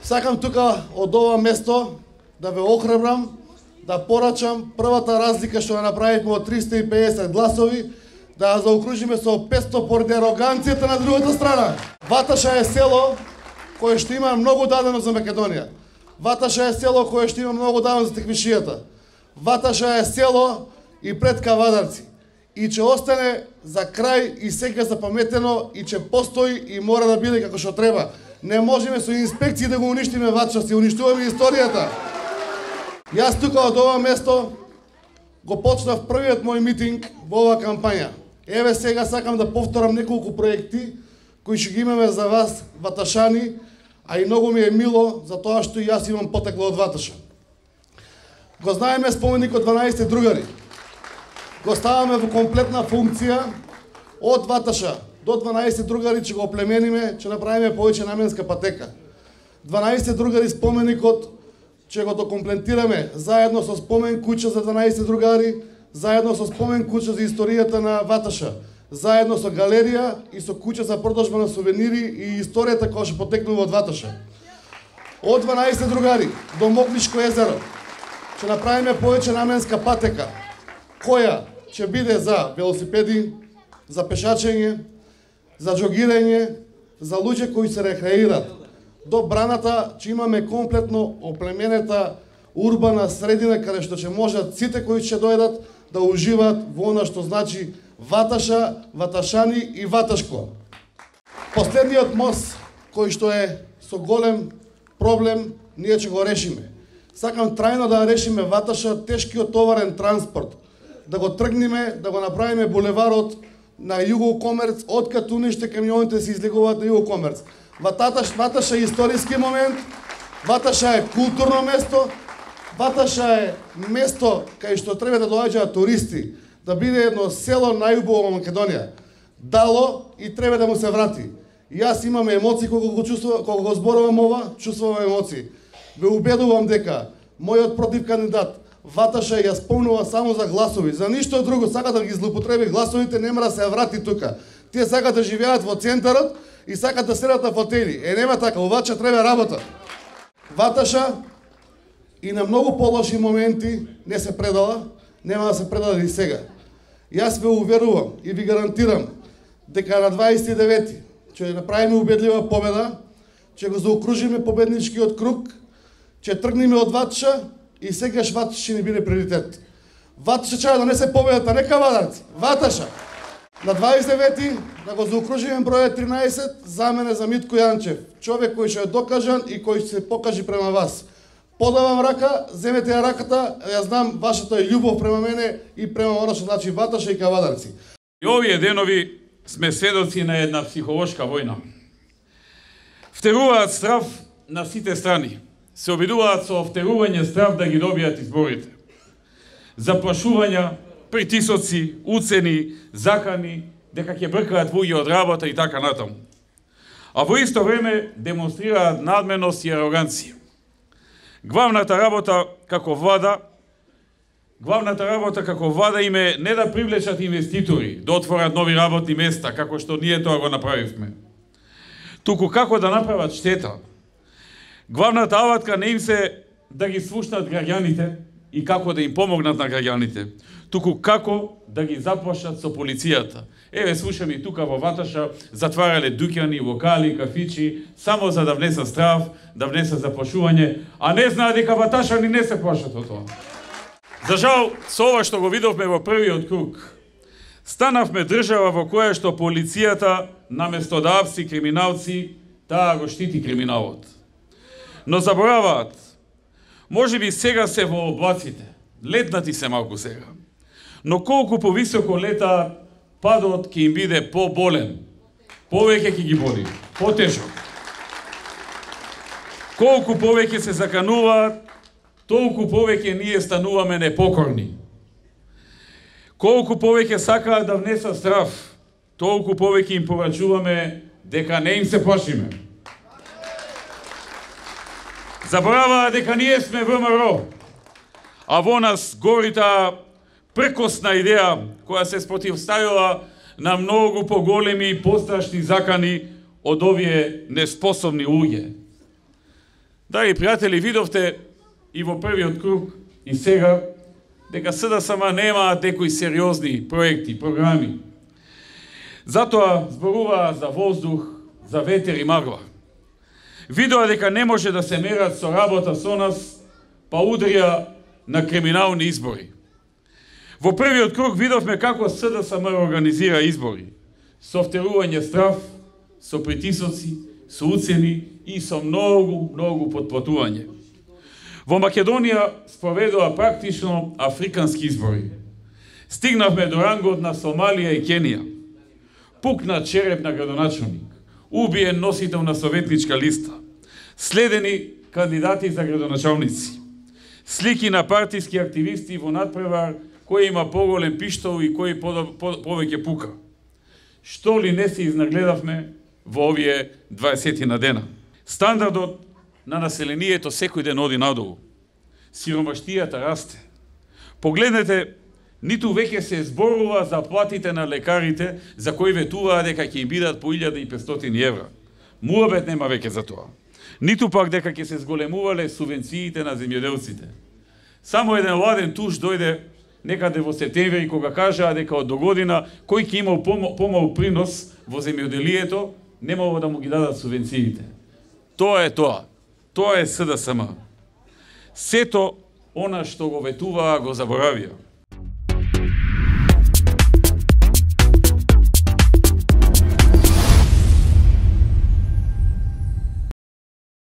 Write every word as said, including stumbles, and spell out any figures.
Сакам тука од ова место да ве охрабрам, да порачам првата разлика што ја направивме од триста и педесет гласови, да ја заокружиме со петсто поради ароганцијата на другата страна. Ваташа е село кое што има многу дадено за Македонија. Ваташа е село кое што има многу дадено за Теквишијата. Ваташа е село и пред Кавадарци. И ќе остане за крај и сега запаметено и ќе постои и мора да биде како што треба. Не можеме со инспекции да го уништиме Ваташа, си уништуваме историјата. Јас тука од ова место го почнав првиот мој митинг во оваа кампања. Еве сега сакам да повторам неколку проекти кои ќе ги имаме за вас, ваташани, а и многу ми е мило за тоа што и јас имам потекло од Ваташа. Го знаеме споменикот дванаесет другари. Го ставаме во комплетна функција од Ваташа до дванаесет другари, ќе го оплемениме, ќе направиме повеќе наменска патека. дванаесет другари споменикот ќе го докомплетираме заедно со спомен куќа за дванаесет другари, заедно со спомен куќа за историјата на Ваташа, заедно со галерија и со куќа за продажба на сувенири и историјата која што потекнува од Ваташа. Од дванаесет другари до Мокнишко езеро ќе направиме повеќе наменска патека, која ќе биде за велосипеди, за пешачење, за џогирање, за луѓе кои се рекреираат. До браната ќе имаме комплетно оплеменета урбана средина каде што ќе можат сите кои ќе дојдат да уживаат во она што значи Ваташа, Ваташани и Ваташко. Последниот мост кој што е со голем проблем, ние ќе го решиме. Сакам трајно да решиме Ваташа, тешкиот товарен транспорт, да го тргнеме, да го направиме булеварот на Југокомерц, од Катуниште камионите се излегуваат на Југокомерц. Ваташ, Ваташа е историски момент, Ваташа е културно место, Ваташа е место кај што треба да доаѓаат туристи, да биде едно село најубаво во Македонија. Дало и треба да му се врати. Јас имам емоции кога го чувствувам, кога го зборувам ова, чувствувам емоции. Ве убедувам дека мојот против кандидат Ваташа ја спомнува само за гласови, за ништо друго, сака да ги злоупотреби гласовите, нема да се врати тука. Тие сакаат да живеат во центарот и сакаат да седат на фотели. Е, нема така, оваче треба работа. Ваташа и на многу полоши моменти не се предала, нема да се предаде и сега. Јас ве уверувам и ви гарантирам дека на дваесет и девети ќе направиме убедлива победа, ќе го заокружиме победничкиот круг, ќе тргнеме од Ваташа и сегаш Ваташа ќе ни биде приоритет. Ваташа ќе донесе победата, не Кавадарци, Ваташа. На дваесет и девети да го заокружиме бројот тринаесет за мене за Митко Јанчев, човек кој ќе е докажан и кој ќе се покажи према вас. Подавам рака, земете ја раката, ја знам вашата љубов према мене и према она што значи Ваташа и Кавадарци. И овие денови сме сведоци на една психолошка војна. Втеруваат страв на сите страни. Се обидуваат со втерување страв да ги добијат изборите. Заплашувања, притисоци, уцени, закани, дека ќе бркаат луѓе од работа и така натаму. А во исто време демонстрираат надменост и ароганција. Главната работа како влада, главната работа како влада им е не да привлечат инвеститори, да отворат нови работни места, како што ние тоа го направивме, туку како да направат штета. Главната алатка не им се да ги слушнат граѓаните и како да им помогнат на граѓаните, туку како да ги заплашат со полицијата. Еве слушаме и тука во Ваташа затварале дуќани, локали, кафичи, само за да внесат страв, да внесат заплашување, а не знаат дека ваташани не се плашат од тоа. За жал, со ова што го видовме во првиот круг, станавме држава во која што полицијата, наместо да апси криминалци, таа го штити криминалот. Но забораваат, може би сега се во облаците, летнати се малку сега, но колку повисоко летаат, падот ќе им биде поболен, повеќе ќе ги боли, потежок. Колку повеќе се закануваат, толку повеќе ние стануваме непокорни. Колку повеќе сакаат да внесат страв, толку повеќе им порачуваме дека не им се плашиме. Забораваа дека ние сме ВМРО, а во нас гори таа прекосна идеја која се спротивставила на многу поголеми и пострашни закани од овие неспособни луѓе. Драги пријатели, видовте и во првиот круг и сега дека СДСМ немаат некои сериозни проекти, програми. Затоа зборуваа за воздух, за ветер и магла. Видоа дека не може да се мерат со работа со нас, па удрија на криминални избори. Во првиот круг видовме како СДСМ организира избори, со втерување страв, со притисоци, со уцени и со многу, многу потплатување. Во Македонија спроведува практично африкански избори. Стигнавме до рангот на Сомалија и Кенија. Пукна череп на градоначалник, убиен носител на советничка листа, следени кандидати за градоначалници, слики на партиски активисти во надпревар кој има поголем пиштол и кој повеќе пука. Што ли не се изнагледавме во овие дваесет на дена? Стандардот на населението секој ден оди надолу. Сиромаштијата расте. Погледнете, ниту веќе се зборува за платите на лекарите за кои ветуваа дека ќе им бидат по илјада и петстотини евра. Муабет нема веќе за тоа. Ниту пак дека ќе се зголемувале субвенциите на земјоделците. Само еден ладен туш дојде некаде во септември кога кажаа дека од догодина кој ќе имал помал принос во земјоделието, немало да му ги дадат субвенциите. Тоа е тоа. Тоа е СДСМ. Сето она што го ветуваа го заборавија.